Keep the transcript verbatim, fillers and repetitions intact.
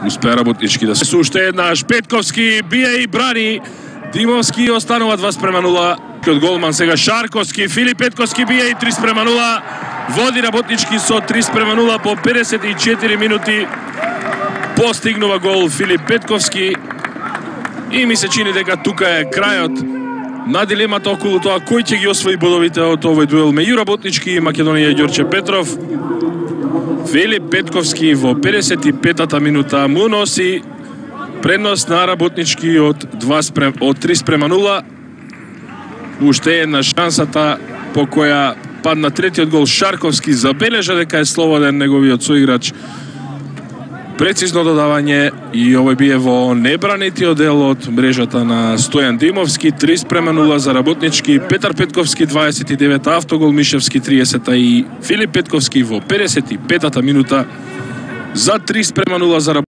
Успеа Работнички да се уште еднаш. Петковски бие и брани. Димовски останува два спрема нула. Од голман сега Шарковски, Филип Петковски бие и три спрема нула. Води Работнички со три спрема нула по педесет и четири минути. Постигнува гол Филип Петковски. И ми се чини дека тука е крајот на дилемата околу тоа кој ќе ги освои бодовите од овој дуел меѓу Работнички и Македонија Ѓорче Петров. Филип Петковски во педесет и петата минута му носи предност на Работнички од два спрем од три спрема нула. Уште една шансата по која падна третиот гол. Шарковски забележа дека е слободен неговиот соиграч. Прецизно додавање и овој бие во небранетиот дел од мрежата на Стојан Димовски. три спрема нула за Работнички. Петар Петковски дваесет и девета, автогол Мишевски триесета и Филип Петковски во педесет и петата минута за три спрема нула за Работнички.